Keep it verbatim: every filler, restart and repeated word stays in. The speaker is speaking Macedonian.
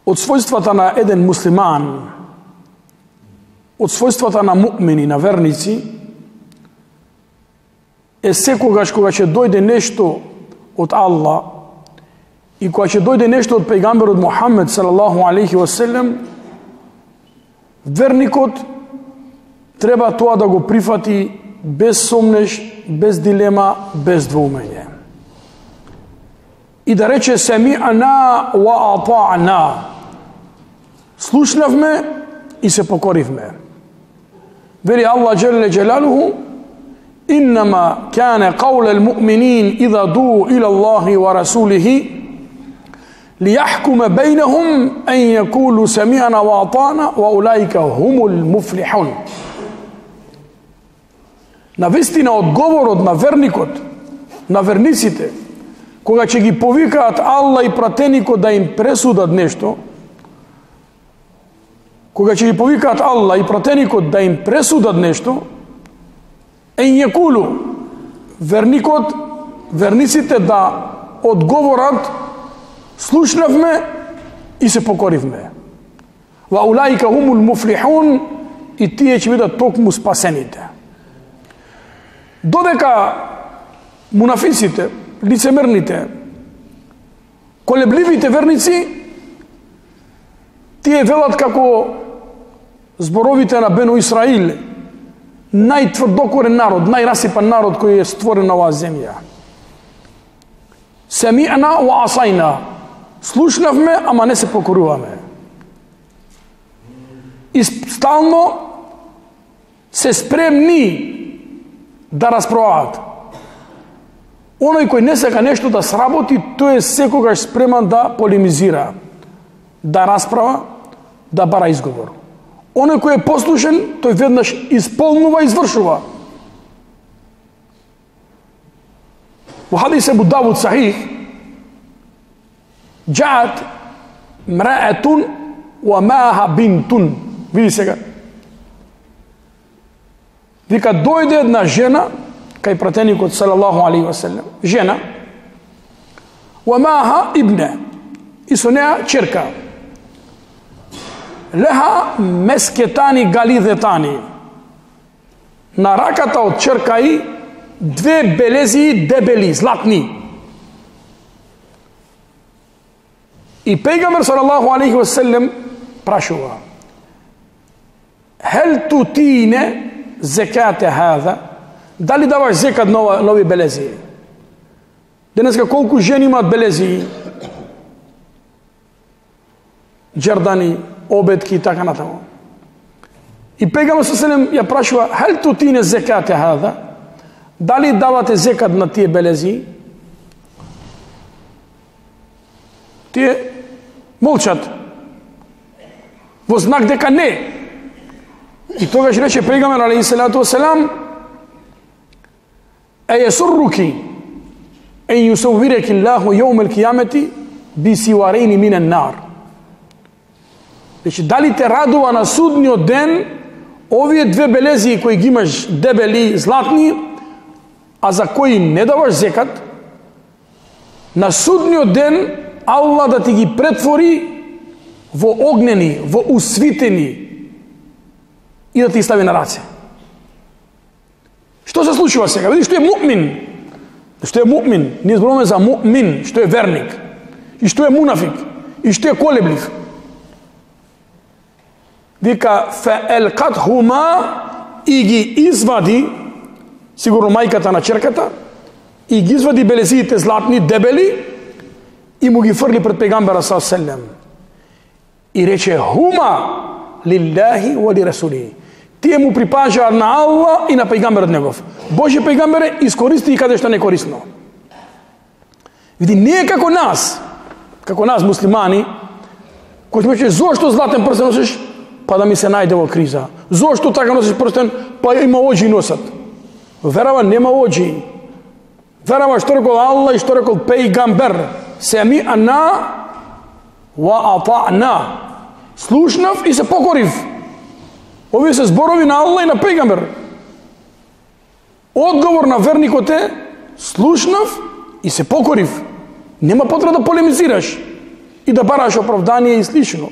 Од својствата на еден муслиман, од својствата на муъмини, на верници, е секогаш кога ќе дојде нешто од Аллах и кога ќе дојде нешто од пејгамберот Мухамед салаллаху алейхи ва селем, верникот треба тоа да го прифати без сомнеш, без дилема, без двоумење. И да рече семи'на ва атa'на. Слушнавме и се покоривме. Вели Аллах джелле джелалуху: иннама кане қауле l-mu'minин идha ду ила Allahi wa rasулихи ليحكم بينهم أن يقولوا سمعنا وأطعنا وأولئك هم المفلحون. Навистина одговорот на верникот, на верниците, кога ќе ги повикаат Аллах и пратеникот да им пресудат нешто, кога ќе ги повикаат Аллах и пратеникот да им пресудат нешто, ен јекулу, верникот, верниците да одговорат: слушнавме и се покоривме. Ва улаика хумул муфлихун, и тие ќе бидат токму спасените. Додека мунафиците, лицемерните, колебливите верници, тие велат како зборовите на Бену Исраил, најтврдокорен народ, најрасипан народ кој е створен на оваа земја. Семи'на ва асајна. Слушнавме, ама не се покоруваме. И стално се спремни да расправаат. Оној кој не сека нешто да сработи, тој е секогаш спреман да полемизира, да расправа, да бара изговор. Оној кој е послушен, тој веднаш исполнува и извршува. Во хадис Абу Давуд сахих, джаат мраетун ва маха бинтун. Види сега. Вика, дојде една жена кај пратеникот салаллаху алейхи ва селем, жена, ва маха ибне, и со неа черка. Леха мескетани галидетани. На раката од черка и две белези дебели, златни. И пејгамбер салаллаху алейхи ва селем прашува: хел тутине зекате хаза? Дали даваш зекат на нови белези? Денеска колку жени имаат белези, џердани, обетки и така натаму. И пејгамбер салаллаху ја прашува: хел тутине зекате хаза? Дали давате зекат на тие белези? Тие молчат во знак дека не. И тогаш рече пејгамбер алейхи салату васелам: е јесурруки ен јусаввиреки Аллаху јаумел кијамети би сиварейни минен нар. Значи, дали те радува на судниот ден овие две белези кои ги имаш дебели, златни, а за кои не даваш зекат, на судниот ден Аллах да ти ги претвори во огнени, во усвитени и да ти стави на раце. Што се случува сега? Види што е муъмин. Што е муъмин? Ние зборуваме за муъмин, што е верник. И што е мунафик. И што е колеблив. Вика феелкатхума, и ги извади, сигурно мајката на черката, и ги извади белезиите златни, дебели, и му ги фрли пред пејгамбера саллаллаху алейхи ва селем. И рече: хума лиллахи ва ли расулихи. Тие му припажаат на Аллах и на пејгамберот негов. Божји пејгамбере, искористи и каде што не корисно. Види, не е како нас, како нас муслимани, кој ќе рече: зошто златен прстен носиш? Па да ми се најде во криза. Зошто така носиш прстен? Па има оџи носат. Верава нема оџи. Верава што рекол Аллах и што рекол пејгамбер. Семи'на ва атa'на. Слушнав и се покорив. Овие се зборови на Аллах и на пејгамбер. Одговор на верникот е: слушнав и се покорив. Нема потреба да полемизираш. и да бараш оправдание и слично.